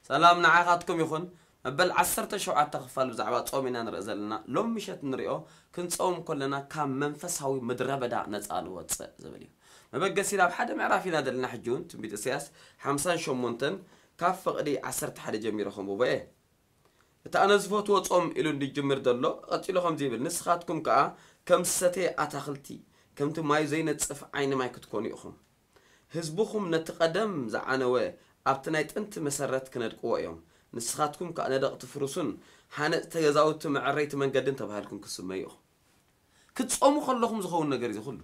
ሰላም ንዓኻትኩም ይኹን። መበል ዓሰርተ ሸውዓተ ክፋል ብዛዕባ ጾም ኢና ንርኢ ዘለና። ሎም ምሸት ንሪኦ፣ ክንጾም ከለና ካብ መንፈሳዊ ምድረ በዳ ነጻ ንወጽእ ዝብል እዩ። መበገሲ ናብ ሓደ ምዕራፍ ኢና ዘለና። ሕጂ እውን ትንቢት ኢሳያስ ሓምሳን ሸሞንተን ካብ ፍቕዲ ዓሰርተ ሓደ ጀሚረ ከንብቦ እየ። እቲ ኣነ ዝፈትዎ ጾም ኢሉ እንዲጅምር ዘሎ፣ ቀጺሉ ከምዚ ይብል፣ ንስኻትኩም ከኣ ከም ዝሰተየ ኣታኽልቲ፣ ከምቲ ማዩ ዘይነጽፍ ዓይኒ ማይ ክትኮኑ ኢኹም። ህዝብኹም ነቲ ቀደም ዝዓነወ ኣብቲ ናይ ጥንቲ መሰረት ክነድቅዎ እዮም። ንስኻትኩም ከኣ ነደቕቲ ፍሩስን ሃነጽቲ ገዛውቲ መዐረይቲ መንገድን ተባሂልኩም ክትስመዩ ኢኹም። ክትጾሙ ከለኹም ዝኸውን ነገር እዚ ኩሉ።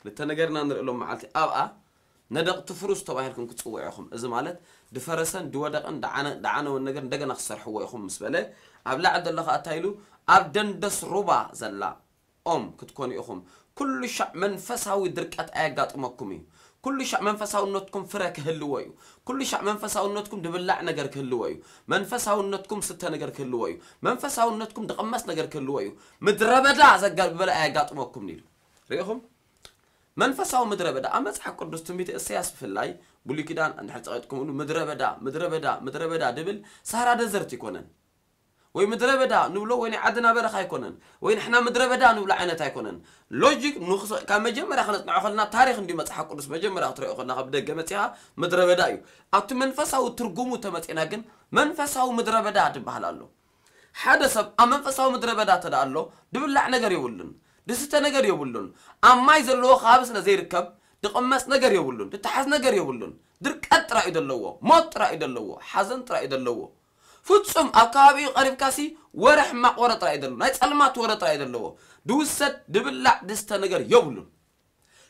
ክልተ ነገር ኢና ንርኢ ሎም መዓልቲ ኣብኣ ነደቕቲ ፍሩስ ተባሂልኩም ክትጽውዑ ኢኹም። እዚ ማለት ድፈረሰን ድወደቐን ደዓነ-፣ ደዓነወን ነገር እንደገና ክሰርሕዎ ኢኹም ምስ በለ፣ ኣብ ላዕሊ ዘሎ ከኣ እንታይ ኢሉ? ኣብ ደንደስ ሩባ ዘላ ኦም ክትኮኑ ኢኹም። ኩሉ ሻዕ መንፈሳዊ ድርቀት ኣየጋጥመኩም እዩ። ኩሉ ሻዕ መንፈሳውነትኩም ፍረ ክህልዎ እዩ። ኩሉ ሻዕ መንፈሳውነትኩም ድብላዕ ነገር ክህልዎ እዩ። መንፈሳውነትኩም ስተ ነገር ክህልዎ እዩ። መንፈሳውነትኩም ድቕመስ ነገር ክህልዎ እዩ። ምድረ በዳ ዘጋብበለ ኣየጋጥመኩም ኢሉ። ርኢኹም? መንፈሳዊ ምድረ በዳ ኣብ መጽሓፍ ቅዱስ ትንቢት እሰያስ ብፍላይ ብሉይ ኪዳን እንድሕር ጸቒጥኩምሉ ምድረ በዳ፣ ምድረ በዳ፣ ምድረ በዳ ድብል ሳራ ደዘርት ይኮነን። ወይ ምድረ በዳ ንብሎ ወይ ናይ ዓድና በረኻ ኣይኮነን። ወይ ንሕና ምድረ በዳ ንብሎ ዓይነት ኣይኮነን። ሎጂክ ንኽስ-፣ ካብ መጀመርያ ክነጽንዖ ከለና ታሪኽ እንዲ መጽሓፍ ቅዱስ መጀመርያ ክትሪኦ ከለኻ ብደገ መጺኻ ምድረ በዳ እዩ። ኣብቲ መንፈሳዊ ትርጉሙ ተመጺና ግን መንፈሳዊ ምድረ በዳ ትበሃል ኣሎ። ሓደ ሰብ ኣብ መንፈሳዊ ምድረ በዳ ተደኣ ኣሎ፣ ድብላዕ ነገር የብሉን፣ ድስተ ነገር የብሉን። ኣብ ማይ ዘለዎ ከባቢ ስለ ዘይርከብ ድቕመስ ነገር የብሉን፣ ድተሓዝ ነገር የብሉን። ድርቀት ጥራይ እዩ ዘለዎ፣ ሞት ጥራይ እዩ ዘለዎ፣ ሓዘን ጥራይ እዩ ዘለዎ። ፍጹም ኣብ ከባቢኡ ቀሪብካሲ ወረ ሕማቕ ወረ ጥራይ እዩ ዘለዎ፣ ናይ ጸልማት ወረ ጥራይ እዩ ዘለዎ። ድውሰድ ድብላዕ ድስተ ነገር የብሉን።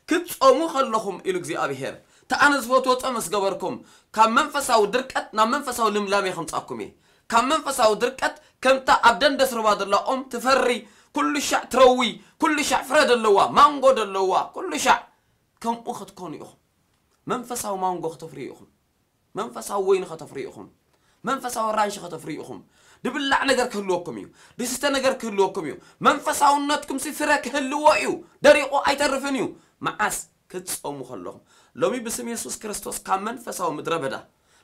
ክትጾሙ ከለኹም ኢሉ እግዚኣብሄር፣ እቲ ኣነ ዝፈትዎ ጾም ምስ ገበርኩም፣ ካብ መንፈሳዊ ድርቀት ናብ መንፈሳዊ ልምላሜ ከምጻኩም እየ። ካብ መንፈሳዊ ድርቀት ከምታ ኣብ ደንደስ ሩባ ዘላ ኦም ትፈሪ፣ ኩሉ ሻዕ ትረዊ፣ ኩሉ ሻዕ ፍረ ደለዋ፣ ማንጎ ደለዋ፣ ኩሉ ሻዕ ከምኡ ክትኮኑ ኢኹም። መንፈሳዊ ማንጎ ከተፍርዩ ኢኹም። መንፈሳዊ ወይኒ ከተፍርዩ ኢኹም። መንፈሳዊ ኣራንሺ ከተፍርዩ ኢኹም። ድብላዕ ነገር ክህልወኩም እዩ። ድስተ ነገር ክህልወኩም እዩ። መንፈሳውነትኩም ሲ ፍረ ክህልዎ እዩ። ደሪቑ ኣይተርፍን እዩ። መዓስ? ክትጾሙ ከለኹም። ሎሚ ብስም የሱስ ክርስቶስ ካብ መንፈሳዊ ምድረ በዳ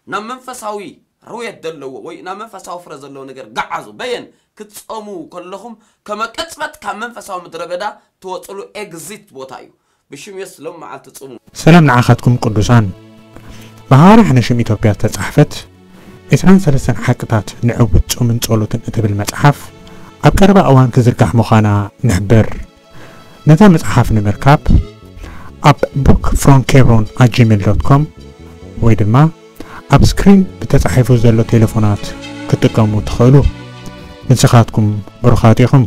ናብ መንፈሳዊ ርውየት ዘለዎ ወይ ናብ መንፈሳዊ ፍረ ዘለዎ ነገር ገዓዙ። በየን? ክትጾሙ ከለኹም ከመ ቅጽበት ካብ መንፈሳዊ ምድረ በዳ ትወጽሉ ኤግዚት ቦታ እዩ። ብሽም የሱስ ሎም መዓልቲ ጽሙ። ሰላም ንዓኻትኩም ቅዱሳን። ብሃዋርያ ሓነ ሽም ኢትዮጵያ ዝተጻሕፈት ዕስራን ሰለስተን ሓቅታት ንዕውት ጾምን ጸሎትን እትብል መጽሓፍ ኣብ ቀረባ እዋን ክዝርጋሕ ምዃና ንሕብር። ነዛ መጽሓፍ ንምርካብ ኣብ book from hebron at gmail dot com ወይ ድማ ኣብ ስክሪን ብተጻሒፉ ዘሎ ቴሌፎናት ክትጥቀሙ ትኽእሉ። ንስኻትኩም ብሩኻት ኢኹም።